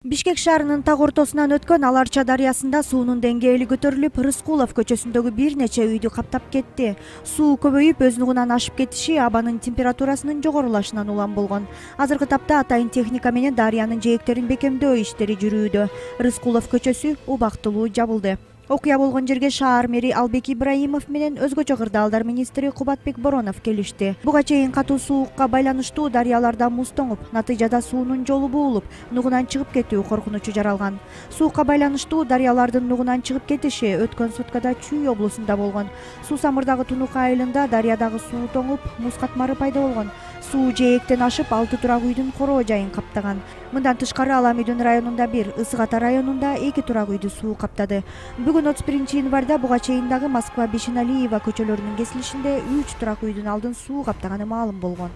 Бишкек шаарынын так ортосунан өткөн Ал Арча дарыясында суунун деңгээли көтөрүлүп, Рыскулов көчөсүндөгү бир нече үйдү каптап кетти. Суу көбөйүп, өз нугунан ашып кетиши абанын температурасынын жогорулашынан улам болгон. Азыркы тапта атайын техника менен дарыянын жээктерин бекемдөө иштери жүрүүдө. Рыскулов көчөсү убактылуу жабылды. Окуя болгон жерге шаар мэри Албек Ибраимов менен өзгөчө кырдаалдар министри Кубатбек Боронов келишти. Буга чейин катуу суукка байланыштуу дарыяларда муз тоңуп, натыйжада суунун жолу буулуп, нугунан чыгып кетүү коркунучу жаралган. Суукка байланыштуу дарыялардын нугунан чыгып кетиши өткөн суткада Чүй облусунда болгон. Суу Самырдагы Тунук айылында дарыядагы суу тоңуп, муз катмары пайда болгон. Суу жээктен ашып, 6 турак үйдүн короо жайын каптаган. Мындан тышкары Ала Медүн районунда 1, Ысык Ата районунда 2 турак үйдү суу каптады. Бүгүн 31-январда буга чейин дагы Москва Бишеналиева көчөлөрүнүн кесилишинде 3 турак үйдүн алдын суу каптаганы маалым болгон.